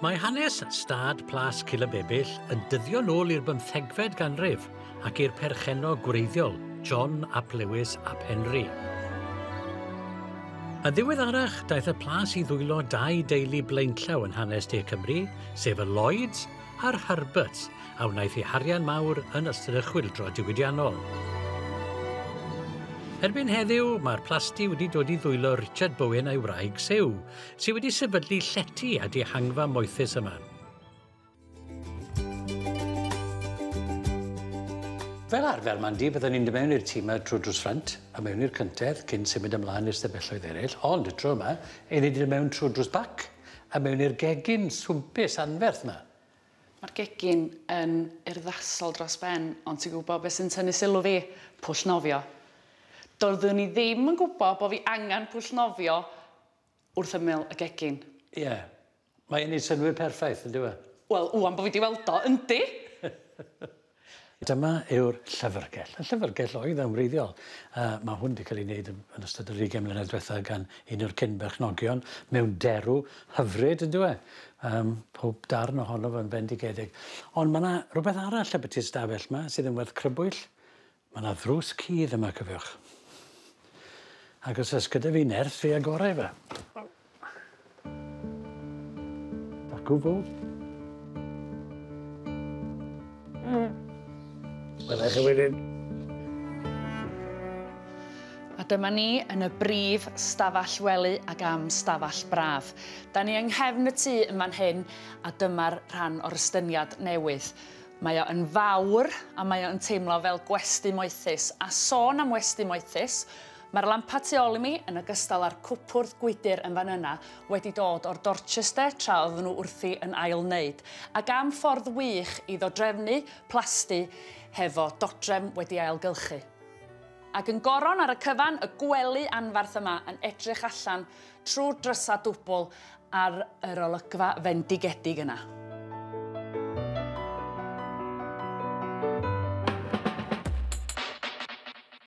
Mae hanes stad Plas Cilybebyll yn dyddio nôl i'r bymthegfed ganrif ac i'r perchennog gwreiddiol, John ap Lewis ap Henry. Yn ddiweddarach, daeth y plas i ddwylo dau deulu blaenllaw yn hanes De Cymru, sef y Lloyds a'r Herberts, a wnaeth eu harian mawr yn ystod y chwyldro diwydiannol. Erbyn heddiw, mae'r plasty wedi dod i ddwylo Richard Bowen a'i wraig Sue, sydd wedi sefydlu llety a dihangfa moethus yma. Fel arfer, Mandy, byddwn ni'n dod mewn i'r tŷ 'ma trwy drws ffrynt a mewn i'r cyntedd cyn symud ymlaen i'r stafelloedd eraill, ond y tro yma, 'yn ni 'di dod mewn trwy drws bac a mewn i'r gegin swmpus anferth 'ma. Mae'r gegin yn urddasol dros ben, ond ti'n gwybod beth sy'n tynnu sylw fi? Pwll nofio. Doeddwn i ddim yn gwybod bod fi angen pwll nofio wrth ymyl y gegin. Ie. Mae e'n neud synnwyr perffaith, yn dyw e? Wel, ŵan bod fi 'di weld o, yndi! Dyma yw'r llyfrgell. Y llyfrgell oedd yn wreiddiol. Uh, mae hwn wedi cael ei wneud yn ystod yr 20 mlynedd diwethaf gan un o'r cyn-berchnogion mewn derw hyfryd, yn dyw e? Um, pob darn ohono fo'n bendigedig. Ond mae yna rhywbeth arall ambiti'r stafell yma sydd yn werth crybwyll. Mae yna ddrws cudd yma, cofiwch. Ac os oes gyda fi nerth, fi agorau fe. Dacw fo. Wela i chi wedyn. A dyma ni yn y brif stafell wely ac am stafell braf. Da ni yng nghefn y tŷ yn fan hyn a dyma'r rhan o'r estyniad newydd. Mae o yn fawr a mae o yn teimlo fel gwesty moethus. A sôn am westy moethus, mae'r lampa tu ôl i mi, yn ogystal â'r cwpwrdd gwydr yn fan yna, wedi dod o'r Dorchester tra oedden nhw wrthi yn ail-wneud. Ac am ffordd wych i ddodrefnu plasty hefo dodrefn wedi ailgylchu. Ac yn goron ar y cyfan, y gwely anfarth yma yn edrych allan trwy'r drysau dwbl ar yr olygfa fendigedig yna.